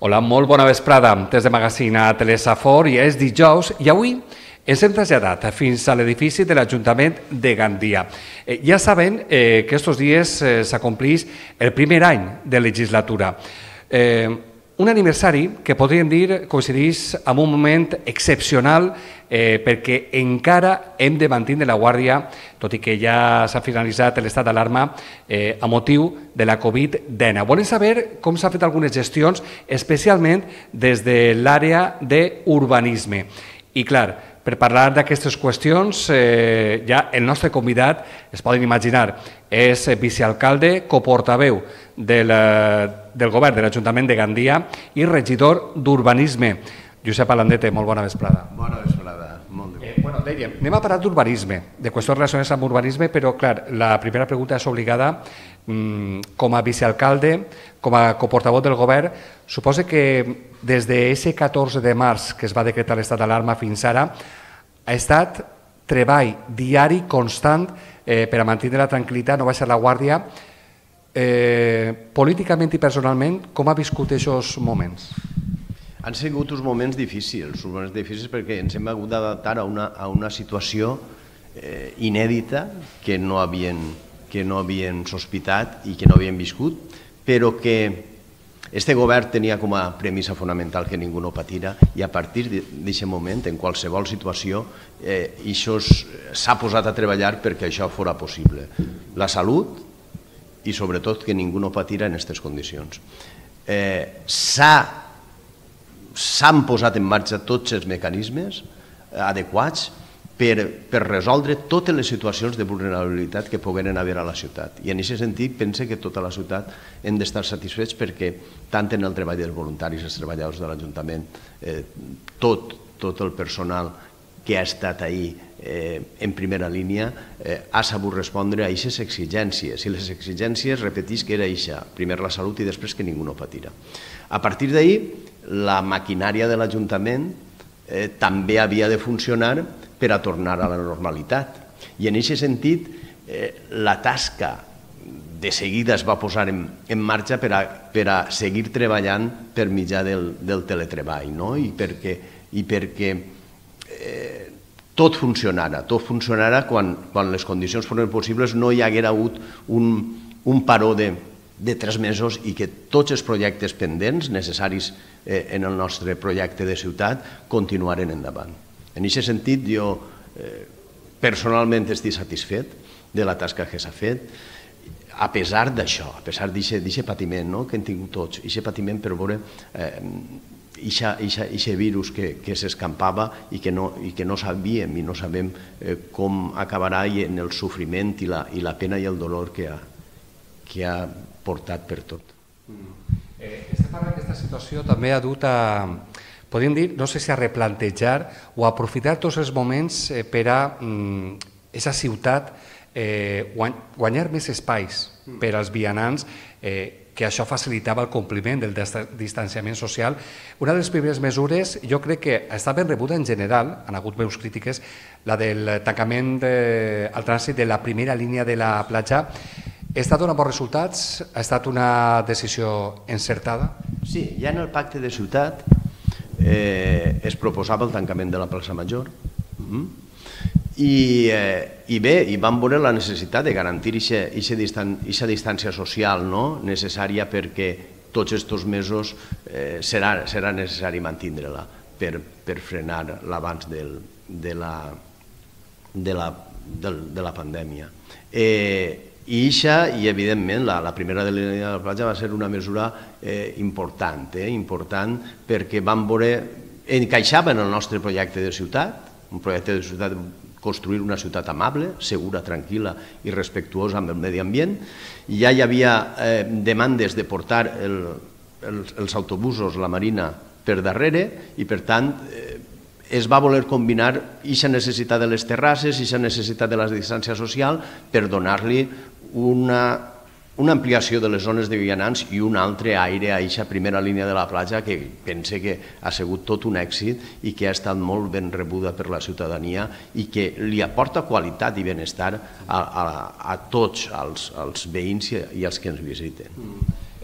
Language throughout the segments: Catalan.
Hola, molt bona vesprada. Des de Magazine a Telesafor i és dijous i avui ens hem traslladat fins a l'edifici de l'Ajuntament de Gandia. Ja saben que aquests dies s'acomplís el primer any de legislatura. Un aniversari que podríem dir coincideix amb un moment excepcional perquè encara hem de mantenir la guàrdia, tot i que ja s'ha finalitzat l'estat d'alarma a motiu de la Covid-19. Volem saber com s'han fet algunes gestions, especialment des de l'àrea d'urbanisme. I clar, per parlar d'aquestes qüestions, ja el nostre convidat, es poden imaginar, és vicealcalde, coportaveu del govern de l'Ajuntament de Gandia i regidor d'Urbanisme. Josep Alandete, molt bona vesprada. Bona vesprada, molt bé. Bueno, dèiem, anem a parlar d'urbanisme, de qüestions relacionades amb urbanisme, però, clar, la primera pregunta és obligada. Com a vicealcalde, com a coportaveu del govern, suposa que des d'aquest 14 de març que es va decretar l'estat d'alarma fins ara ha estat treball diari constant per a mantenir la tranquil·litat, no baixar la guàrdia. Políticament i personalment, com ha viscut aquests moments? Han sigut uns moments difícils perquè ens hem hagut d'adaptar a una situació inèdita que no havien sospitat i que no havien viscut, però que este govern tenia com a premissa fonamental que ningú no patira i a partir d'aquest moment, en qualsevol situació, s'ha posat a treballar perquè això fora possible. La salut i sobretot que ningú no patira en aquestes condicions. S'han posat en marxa tots els mecanismes adequats per resoldre totes les situacions de vulnerabilitat que pogueren haver a la ciutat. I en aquest sentit pense que tota la ciutat hem d'estar satisfets perquè tant en el treball dels voluntaris, els treballadors de l'Ajuntament, tot el personal que ha estat ahí en primera línia ha sabut respondre a aquestes exigències. I les exigències, repetís, que era això, primer la salut i després que ningú no patira. A partir d'ahí, la maquinària de l'Ajuntament també havia de funcionar per a tornar a la normalitat. I en aquest sentit, la tasca de seguida es va posar en marxa per a seguir treballant per mitjà del teletreball, i perquè tot funcionara quan les condicions foren possibles, no hi haguera hagut un paró de 3 mesos i que tots els projectes pendents necessaris en el nostre projecte de ciutat continuaren endavant. En aquest sentit, jo personalment estic satisfet de la tasca que s'ha fet, a pesar d'això, a pesar d'aquest patiment que hem tingut tots, aquest patiment per veure aquest virus que s'escampava i que no sabíem i no sabem com acabarà en el sofriment i la pena i el dolor que ha portat per tot. Estem parlant d'aquesta situació també ha dut a, podríem dir, no sé si a replantejar o a aprofitar tots els moments per a aquesta ciutat guanyar més espais per als vianants, que això facilitava el compliment del distanciament social. Una de les primeres mesures, jo crec que està ben rebuda en general, han hagut veus crítiques, la del tancament al trànsit de la primera línia de la platja. Ha estat donant bons resultats? Ha estat una decisió encertada? Sí, ja en el pacte de ciutat es proposava el tancament de la plaça Major i bé, i vam veure la necessitat de garantir aquesta distància social necessària perquè tots aquests mesos serà necessari mantenir-la per frenar l'abans de la pandèmia. I evidentment, la primera línia de la platja va ser una mesura important perquè vam veure, encaixava en el nostre projecte de ciutat, un projecte de ciutat, construir una ciutat amable, segura, tranquil·la i respectuosa amb el medi ambient. Ja hi havia demandes de portar els autobusos, la Marina, per darrere i, per tant, es va voler combinar aquesta necessitat de les terrasses, aquesta necessitat de la distància social per donar-li una ampliació de les zones de vianants i un altre aire a aquesta primera línia de la platja que pense que ha sigut tot un èxit i que ha estat molt ben rebuda per la ciutadania i que li aporta qualitat i benestar a tots els veïns i als que ens visiten.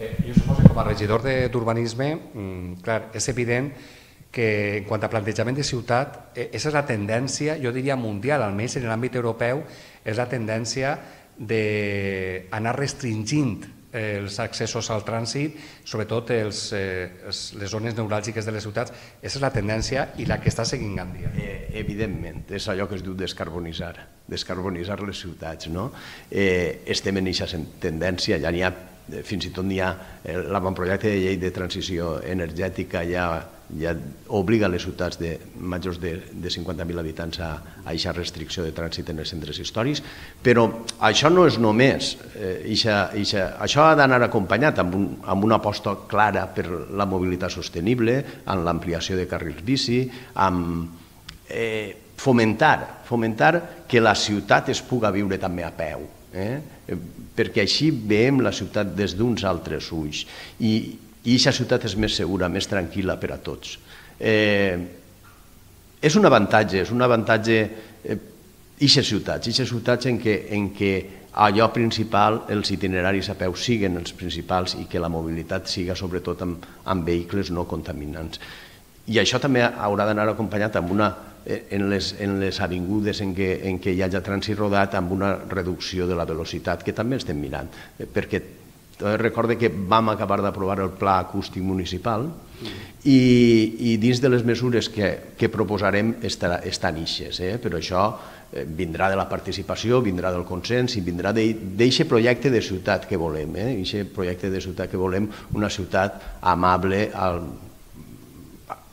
Jo suposo que com a regidor d'urbanisme, clar, és evident que en quant a plantejament de ciutat, aquesta és la tendència, jo diria mundial, almenys en l'àmbit europeu, és la tendència d'anar restringint els accessos al trànsit, sobretot les zones neuràlgiques de les ciutats. Aquesta és la tendència i la que està seguint Gandia. Evidentment, és allò que es diu descarbonitzar les ciutats. Estem en aquesta tendència, ja n'hi ha, fins i tot n'hi ha, l'avantprojecte de llei de transició energètica ja obliga les ciutats majors de 50.000 habitants a aquesta restricció de trànsit en els centres històrics, però això no és només, això ha d'anar acompanyat amb una aposta clara per la mobilitat sostenible, amb l'ampliació de carrils bici, amb fomentar que la ciutat es puga viure també a peu, perquè així veiem la ciutat des d'uns altres ulls i aquesta ciutat és més segura, més tranquil·la per a tots. És un avantatge aquestes ciutats en què allò principal, els itineraris a peu siguen els principals i que la mobilitat siga sobretot amb vehicles no contaminants. I això també haurà d'anar acompanyat en les avingudes en què hi hagi trànsit rodat amb una reducció de la velocitat, que també estem mirant, perquè recorde que vam acabar d'aprovar el Pla Acústic Municipal i dins de les mesures que proposarem estan ixes, però això vindrà de la participació, vindrà del consens i vindrà d'aquest projecte de ciutat que volem, una ciutat amable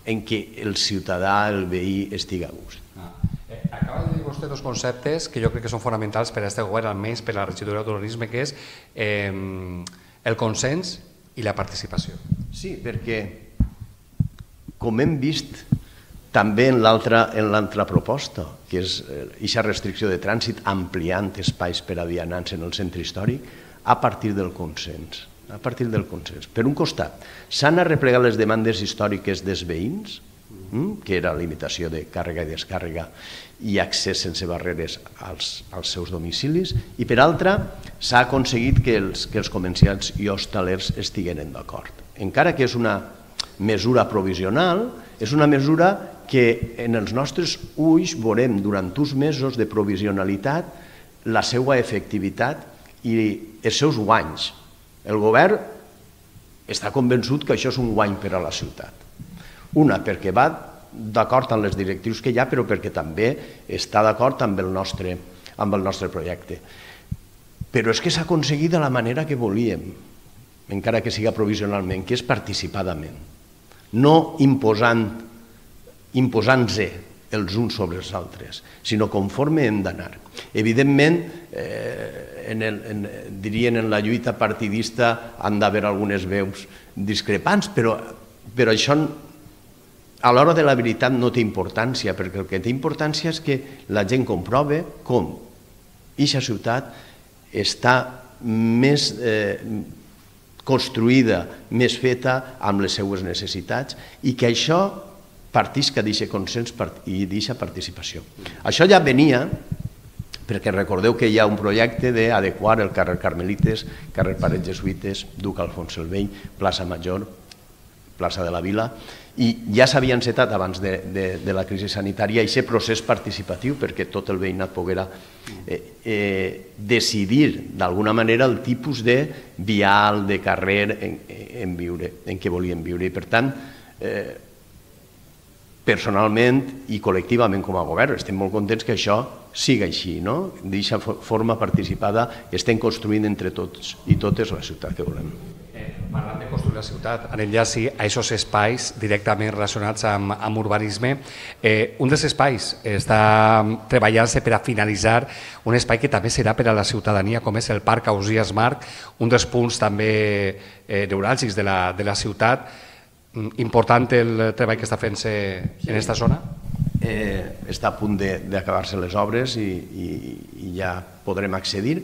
en què el ciutadà, el veí, estigui a gust. Acaba de dir vostè dos conceptes que jo crec que són fonamentals per a aquest govern, almenys per a la regidoria d'urbanisme, que és el consens i la participació. Sí, perquè, com hem vist també en l'altra proposta, que és aquesta restricció de trànsit ampliant espais per a vianants en el centre històric, a partir del consens. Per un costat, s'han arreplegat les demandes històriques dels veïns, que era limitació de càrrega i descàrrega i accés sense barreres als seus domicilis, i per altra s'ha aconseguit que els comerciants i hostalers estiguin d'acord. Encara que és una mesura provisional, és una mesura que en els nostres ulls veurem durant uns mesos de provisionalitat la seva efectivitat i els seus guanys. El govern està convençut que això és un guany per a la ciutat. Una, perquè va d'acord amb les directrius que hi ha, però perquè també està d'acord amb el nostre projecte. Però és que s'ha aconseguit de la manera que volíem, encara que siga provisionalment, que és participadament, no imposant-se els uns sobre els altres, sinó conforme hem d'anar. Evidentment, dirien en la lluita partidista han d'haver algunes veus discrepants, però això a l'hora de la veritat no té importància, perquè el que té importància és que la gent comprove com aquesta ciutat està més construïda, més feta amb les seues necessitats i que això partisca d'aquest consens i d'aquesta participació. Això ja venia, perquè recordeu que hi ha un projecte d'adequar el carrer Carmelites, carrer Parets Jesuïtes, Duc Alfons el Vell, plaça Major, plaça de la Vila, i ja s'havia encetat abans de la crisi sanitària aquest procés participatiu perquè tot el veïnat poguera decidir d'alguna manera el tipus de vial, de carrer en què volien viure. I per tant, personalment i col·lectivament com a govern estem molt contents que això siga així, no? D'aquesta forma participada estem construint entre tots i totes la ciutat que volem. Parlant de construir la ciutat, anem ja sí a aquests espais directament relacionats amb urbanisme. Un dels espais està treballant-se per a finalitzar un espai que també serà per a la ciutadania, com és el Parc Ausiàs Marc, un dels punts també neuràlgics de la ciutat. Important el treball que està fent-se en aquesta zona? Està a punt d'acabar-se les obres i ja podrem accedir.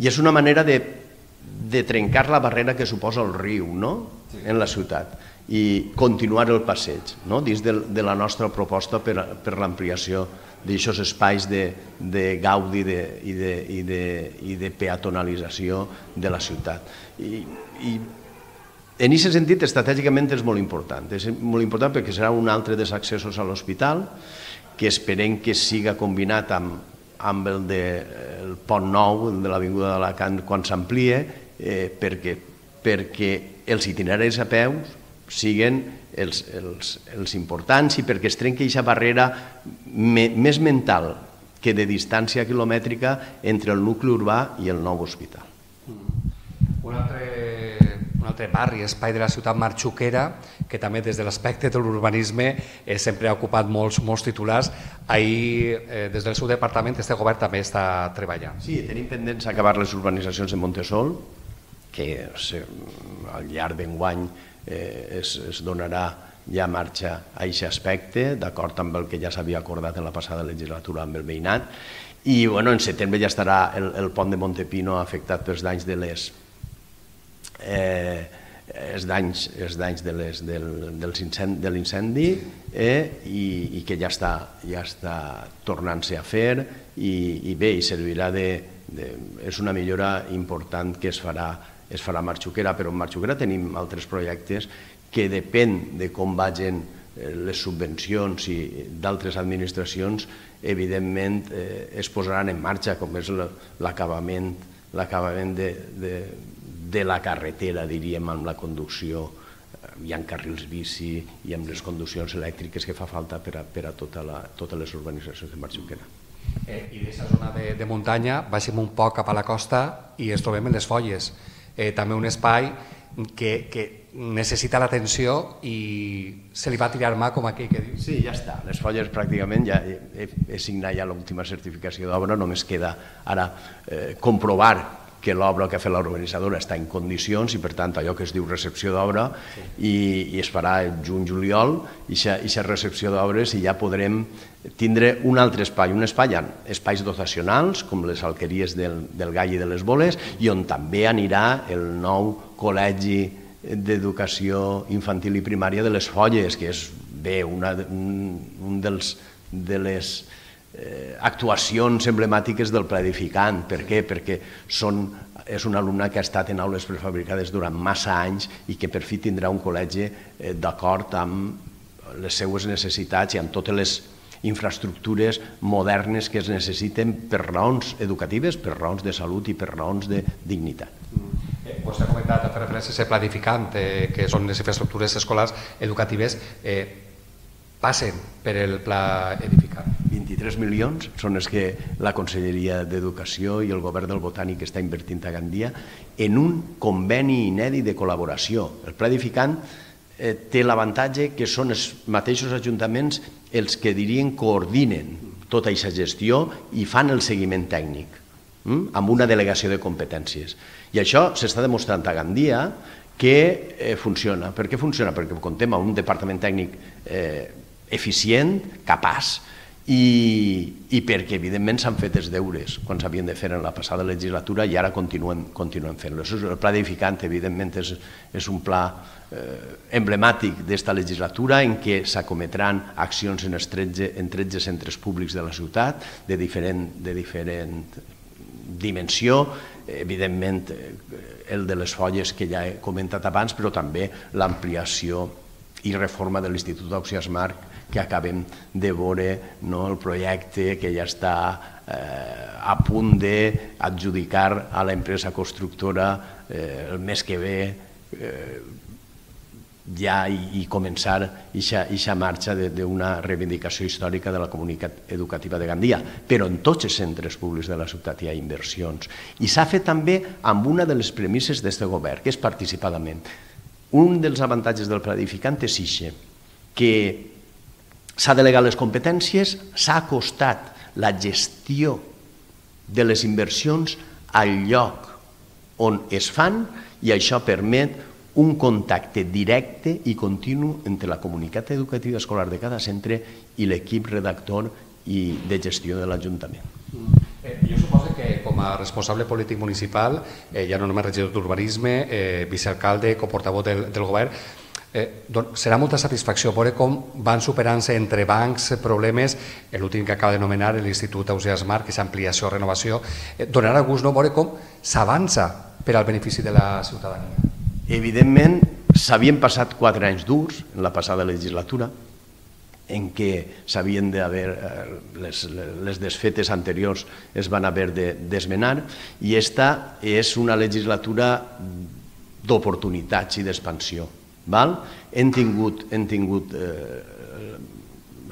I és una manera de trencar la barrera que suposa el riu en la ciutat i continuar el passeig dins de la nostra proposta per l'ampliació d'aquests espais de gaudi i de peatonalització de la ciutat. I En aquest sentit, estratègicament és molt important. És molt important perquè serà un altre dels accessos a l'hospital, que esperem que siga combinat amb el del pont nou, el de l'Avinguda d'Alacant, quan s'amplie, perquè els itineraris a peu siguin els importants i perquè es trenqui aquesta barrera més mental que de distància quilomètrica entre el nucli urbà i el nou hospital. Un altre barri, espai de la ciutat Marxuquera, que també des de l'aspecte de l'urbanisme sempre ha ocupat molts titulars. Ahir, des del seu departament, este govern també està treballant. Sí, tenim pendents acabar les urbanitzacions de Montesol, que al llarg d'enguany es donarà ja marxa a aquest aspecte, d'acord amb el que ja s'havia acordat en la passada legislatura amb el veïnat. I en setembre ja estarà el pont de Montepino afectat pels danys de l'incendi i que ja està tornant-se a fer i bé, servirà és una millora important que es farà a Marxuquera, però en Marxuquera tenim altres projectes que depèn de com vagin les subvencions i d'altres administracions, evidentment es posaran en marxa, com és l'acabament de la carretera, diríem, amb la conducció, hi ha carrils bici i amb les conduccions elèctriques que fa falta per a totes les urbanitzacions de Marxuquera. I d'aquesta zona de muntanya baixem un poc cap a la costa i ens trobem en les Folles, també un espai que necessita l'atenció i se li va tirar mà, com aquell que diu. Sí, ja està. Les Folles pràcticament ja he signat ja l'última certificació d'obra, només queda ara comprovar que l'obra que ha fet l'urbanitzadora està en condicions i, per tant, allò que es diu recepció d'obra i es farà el juny-juliol i aquesta recepció d'obres i ja podrem tindre un altre espai, espais dotacionals com les alqueries del Gall i de les Boles i on també anirà el nou col·legi d'educació infantil i primària de les Folles, que és bé un de les actuacions emblemàtiques del pla edificant. Per què? Perquè és un alumne que ha estat en aules prefabricades durant massa anys i que per fi tindrà un col·legi d'acord amb les seues necessitats i amb totes les infraestructures modernes que es necessiten per raons educatives, per raons de salut i per raons de dignitat. Vostè ha comentat, a fer referència a ser pla edificant, que són les infraestructures escolars educatives, passen per el pla edificant. 23 milions són els que la Conselleria d'Educació i el Govern del Botànic està invertint a Gandia en un conveni inèdit de col·laboració. El pla edificant té l'avantatge que són els mateixos ajuntaments els que coordinen tota aquesta gestió i fan el seguiment tècnic amb una delegació de competències. I això s'està demostrant a Gandia que funciona. Per què funciona? Perquè comptem amb un departament tècnic eficient, capaç, i perquè evidentment s'han fet els deures quan s'havien de fer en la passada legislatura i ara continuen fent-lo. El pla edificant evidentment és un pla emblemàtic d'esta legislatura en què s'acometran accions en 13 centres públics de la ciutat de diferent dimensió, evidentment el de les Folles que ja he comentat abans, però també l'ampliació i reforma de l'Institut Ausiàs Marc que acabem de veure, el projecte que ja està a punt d'adjudicar a l'empresa constructora el mes que ve ja i començar aquesta marxa d'una reivindicació històrica de la comunitat educativa de Gandia. Però en tots els centres públics de la ciutat hi ha inversions. I s'ha fet també amb una de les premisses d'aquest govern, que és participadament. Un dels avantatges del pla edificant és que s'ha delegat les competències, s'ha acostat la gestió de les inversions al lloc on es fan i això permet un contacte directe i continu entre la comunitat educativa escolar de cada centre i l'equip redactor i de gestió de l'Ajuntament. Jo suposo que com a responsable polític municipal, ja no només regidor d'urbanisme, vicealcalde, coportaveu del govern, serà molta satisfacció veure com van superant-se entre bancs problemes, l'últim que acaba de nomenar l'Institut Ausiàs Marc, que és ampliació, renovació, donarà gust veure com s'avança per al benefici de la ciutadania. Evidentment, S'havien passat 4 anys durs en la passada legislatura, en què s'havien d'haver, les desfetes anteriors es van haver de desmenar, i esta és una legislatura d'oportunitats i d'expansió. Hem tingut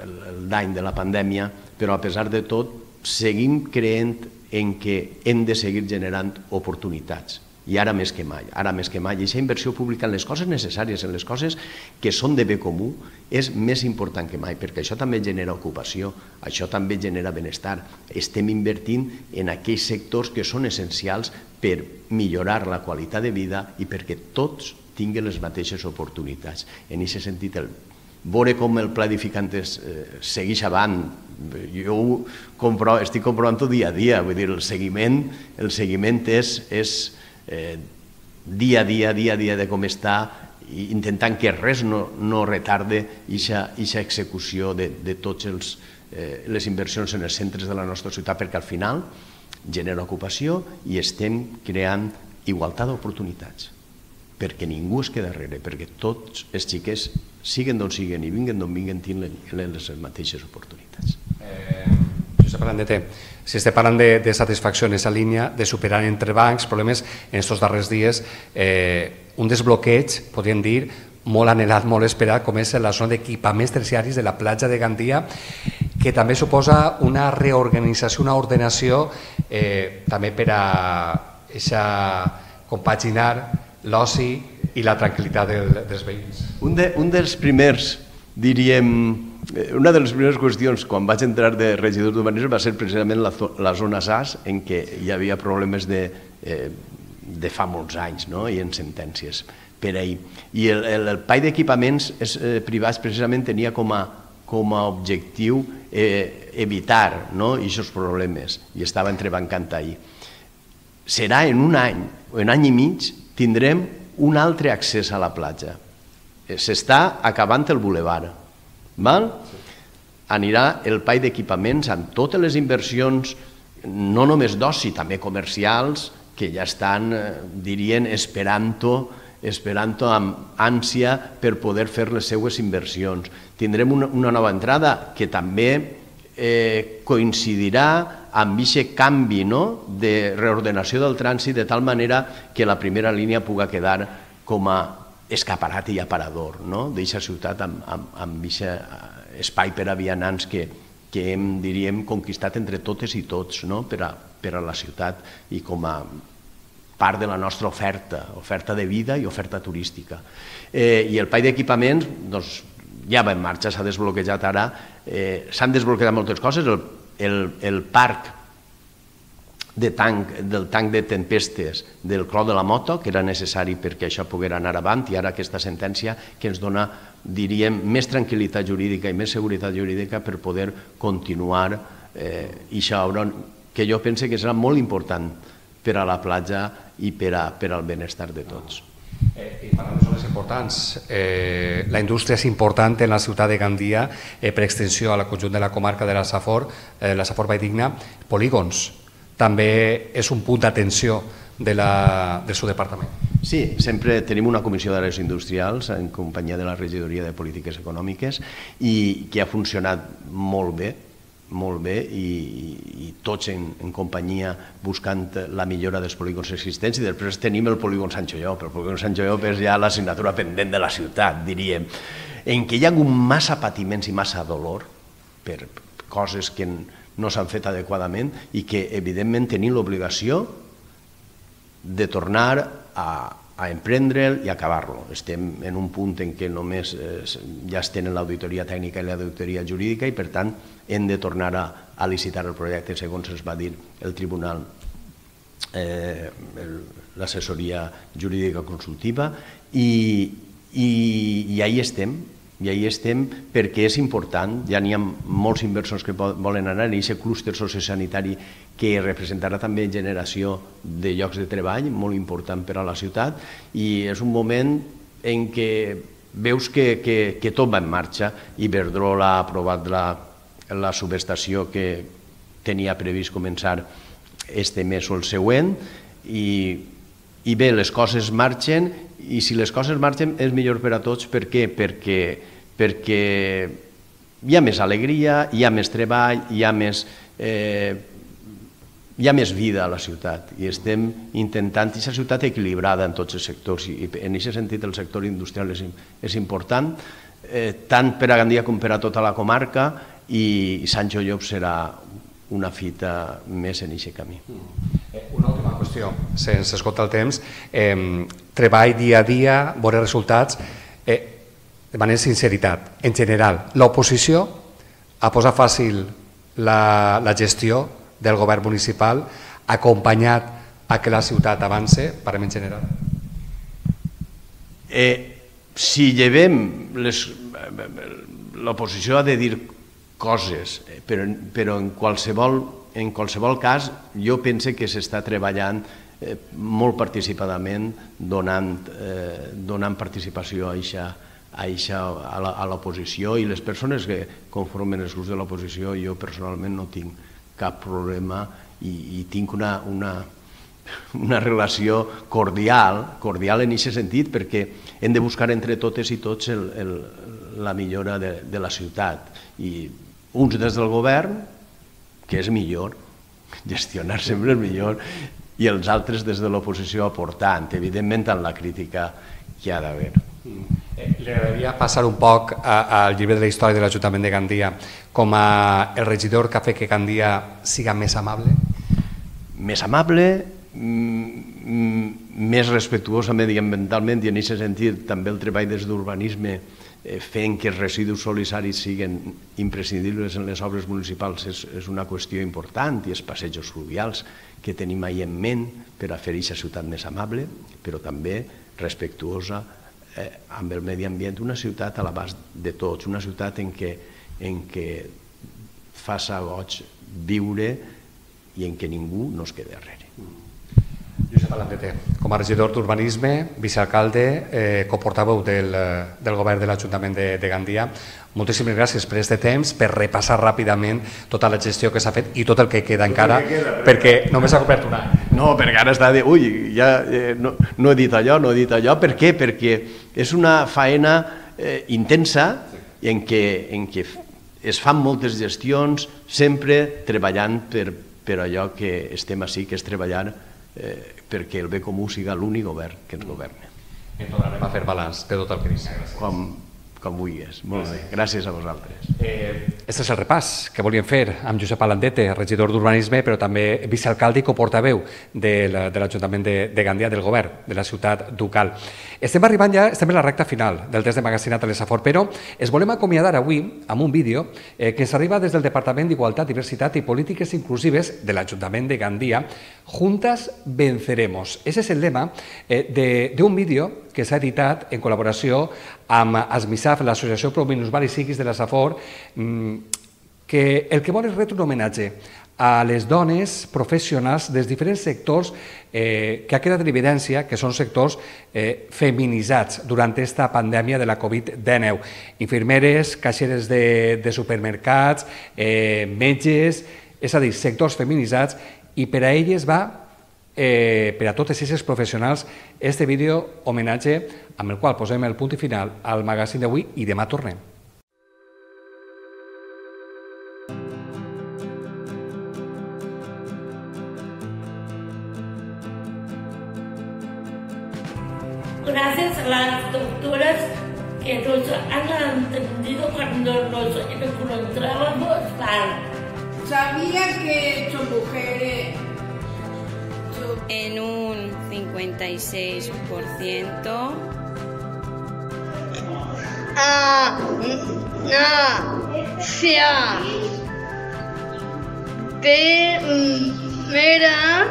el dany de la pandèmia, però a pesar de tot seguim creient en què hem de seguir generant oportunitats. I ara més que mai, i aquesta inversió pública en les coses necessàries, en les coses que són de bé comú, és més important que mai, perquè això també genera ocupació, això també genera benestar. Estem invertint en aquells sectors que són essencials per millorar la qualitat de vida i perquè tots tinguin les mateixes oportunitats. En aquest sentit, veure com el pla edificantes segueix avant, jo estic comprovant-ho dia a dia, vull dir, el seguiment és dia a dia de com està, intentant que res no retarde aquesta execució de totes les inversions en els centres de la nostra ciutat, perquè al final genera ocupació i estem creant igualtat d'oportunitats, perquè ningú es queda darrere, perquè tots els xiquets, siguen d'on siguen i vinguen d'on vinguen, tenen les mateixes oportunitats. Si estem parlant de satisfacció en aquesta línia, de superar entre bancs problemes, en aquests darrers dies, un desbloqueig, podríem dir, molt anhelat, molt esperat, com és la zona d'equipaments terciaris de la platja de Gandia, que també suposa una reorganització, una ordenació, també per a compaginar l'oci i la tranquil·litat dels veïns. Un dels primers, diríem, una de les primeres qüestions quan vaig entrar de regidor d'urbanisme va ser precisament la zona SAS, en què hi havia problemes de fa molts anys i en sentències per ahir. I el PAI d'equipaments privats precisament tenia com a objectiu evitar aquests problemes i estava entrebancant ahir. Serà en un any o en any i mig tindrem un altre accés a la platja. S'està acabant el bulevard. Anirà el PAI d'equipaments amb totes les inversions, no només d'oci, també comercials, que ja estan, dirien, esperant-ho amb ànsia per poder fer les seues inversions. Tindrem una nova entrada que també coincidirà amb aquest canvi de reordenació del trànsit, de tal manera que la primera línia pugui quedar com a escaparat i aparador d'aquesta ciutat amb aquest espai per a vianants que hem, diríem, conquistat entre totes i tots per a la ciutat i com a part de la nostra oferta de vida i oferta turística. I el PAI d'equipaments ja va en marxa, s'ha desbloquejat ara, s'han desbloquejat moltes coses, el parc del tanc de tempestes del Clot de la Moto, que era necessari perquè això pogués anar avant, i ara aquesta sentència que ens dona, diríem, més tranquil·litat jurídica i més seguretat jurídica per poder continuar aquesta obra, que jo penso que serà molt important per a la platja i per al benestar de tots. I parlant de zones importants, la indústria és important en la ciutat de Gandia per extensió a la conjunt de la comarca de la Safor Valldigna. Polígons també és un punt d'atenció del seu departament. Sí, sempre tenim una comissió d'àrees industrials en companyia de la Regidoria de Polítiques Econòmiques i que ha funcionat molt bé i tots en companyia buscant la millora dels polígons existents, i després tenim el polígon Sant Joiop. El polígon Sant Joiop és ja l'assignatura pendent de la ciutat, diríem, en què hi ha hagut massa patiments i massa dolor per coses que no s'han fet adequadament i que evidentment tenim l'obligació de tornar a emprendre'l i acabar-lo. Estem en un punt en què només ja es tenen l'auditoria tècnica i l'auditoria jurídica i per tant hem de tornar a licitar el projecte segons ens va dir el tribunal, l'assessoria jurídica consultiva, i ahí estem perquè és important. Ja n'hi ha molts inversors que volen anar en aquest clúster sociosanitari que representarà també generació de llocs de treball molt important per a la ciutat, i és un moment en què veus que tot va en marxa. Iberdrola ha aprovat la subestació que tenia previst començar este mes o el següent, i bé, les coses marxen i si les coses marxen és millor per a tots. Per què? Perquè hi ha més alegria, hi ha més treball, hi ha més vida a la ciutat i estem intentant aquesta ciutat equilibrada en tots els sectors i en aquest sentit el sector industrial és important tant per a Gandia com per a tota la comarca i Sancho Llop serà una fita més en aquest camí. Una última qüestió, sense esgotar el temps, treball dia a dia, veure resultats, de manera sinceritat, en general, l'oposició ha posat fàcil la gestió del govern municipal, acompanyat a que la ciutat avance, parem en general? Si llevem, l'oposició ha de dir coses, però en qualsevol cas jo penso que s'està treballant molt participadament donant participació a l'oposició i les persones que conformen els grups de l'oposició jo personalment no tinc cap problema i tinc una relació cordial en aquest sentit perquè hem de buscar entre totes i tots la millora de la ciutat i uns des del govern, que és millor, gestionar sempre és millor, i els altres des de l'oposició aportant, evidentment en la crítica que hi ha d'haver. Li agradaria passar un poc al llibre de la història de l'Ajuntament de Gandia com el regidor que ha fet que Gandia siga més amable? Més amable, més respectuosa mediambientalment i en aquest sentit també el treball des d'urbanisme fent que els residus solisaris siguin imprescindibles en les obres municipals és una qüestió important i els passejos fluvials que tenim ahir en ment per a fer aquesta ciutat més amable, però també respectuosa amb el medi ambient, una ciutat a l'abast de tots, una ciutat en què faça goig viure i en què ningú no es quedi darrere. Josep Alandete, com a regidor d'Urbanisme, vicealcalde, coportaveu del govern de l'Ajuntament de Gandia, moltíssimes gràcies per aquest temps, per repassar ràpidament tota la gestió que s'ha fet i tot el que queda encara, perquè només ha complert un any. No, perquè ara està de... Ui, ja no he dit allò. Per què? Perquè és una faena intensa en què es fan moltes gestions, sempre treballant per allò que estem ací, que és treballar perquè el bé comú siga l'únic govern que ens governa. En tornarem a fer balanç de tot el que dius. Com vulguis. Molt bé. Gràcies a vosaltres. Aquest és el repàs que volíem fer amb Josep Alandete, regidor d'Urbanisme, però també vicealcalde i coportaveu de l'Ajuntament de Gandia, del govern de la ciutat ducal. Estem arribant ja, estem en la recta final del test de magazinat a l'Esafor, però es volem acomiadar avui amb un vídeo que ens arriba des del Departament d'Igualtat, Diversitat i Polítiques Inclusives de l'Ajuntament de Gandia. Juntas venceremos. Ese és el lema d'un vídeo que s'ha editat en col·laboració amb ASMISAF, l'Associació Pro-Minusvàlids Psíquics de la Safor, que el que vol és retre un homenatge a les dones professionals dels diferents sectors que ha quedat en evidència que són sectors feminitzats durant aquesta pandèmia de la Covid-19. Infermeres, caixeres de supermercats, metges, és a dir, sectors feminitzats, i per a elles va, per a totes aquestes professionals, este vídeo homenatge amb el qual posem el punt i final al magazín d'avui i demà tornem. Gracias a las doctoras que nos han atendido cuando nos encontrábamos mal. ¿Sabías que son mujeres? En un 56%. Primera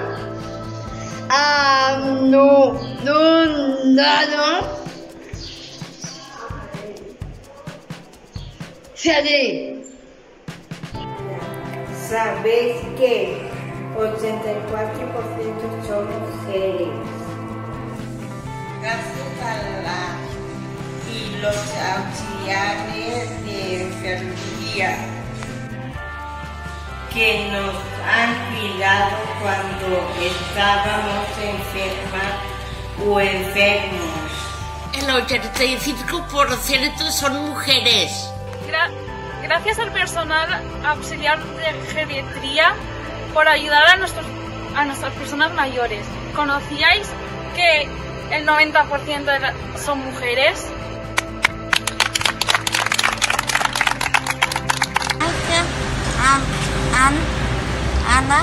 anudado salir. ¿Sabéis que 84% son mujeres? Gracias y los auxiliares de enfermería que nos han cuidado cuando estábamos enfermas o enfermos. el 85% son mujeres. Gracias al personal auxiliar de geriatría por ayudar a nuestras personas mayores. ¿Conocíais que el 90% son mujeres? Gracias a Ana,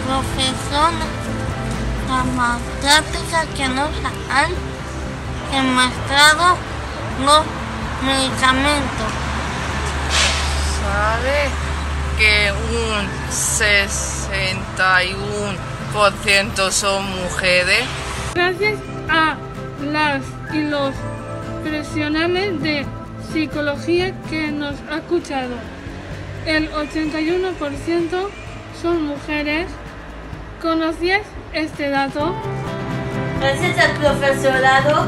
profesora farmacéutica, que nos han demostrado los medicamentos. ¿Sabe que un 61% son mujeres? Gracias a las y los profesionales de psicología que nos ha escuchado, el 81% son mujeres. ¿Conocías este dato? Gracias al profesorado,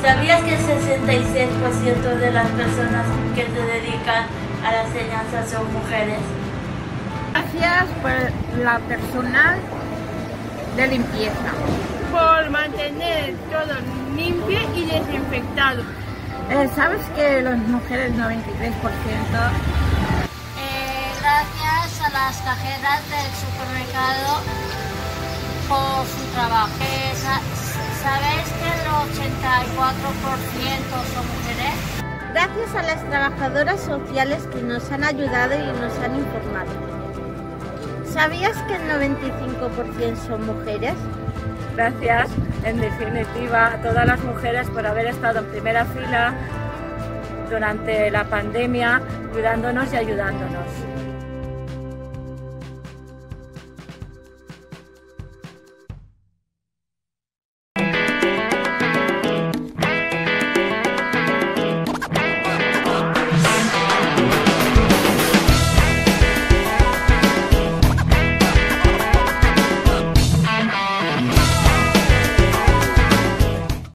¿sabías que el 66% de las personas que se dedican a la enseñanza son mujeres? Gracias por la personal de limpieza. Por mantener todo limpio y desinfectado. ¿Sabes que las mujeres 93%? Gracias a las cajeras del supermercado por su trabajo. ¿Sabéis que el 84% son mujeres? Gracias a las trabajadoras sociales que nos han ayudado y nos han informado. ¿Sabías que el 95% son mujeres? Gracias, en definitiva, a todas las mujeres por haber estado en primera fila durante la pandemia, cuidándonos y ayudándonos.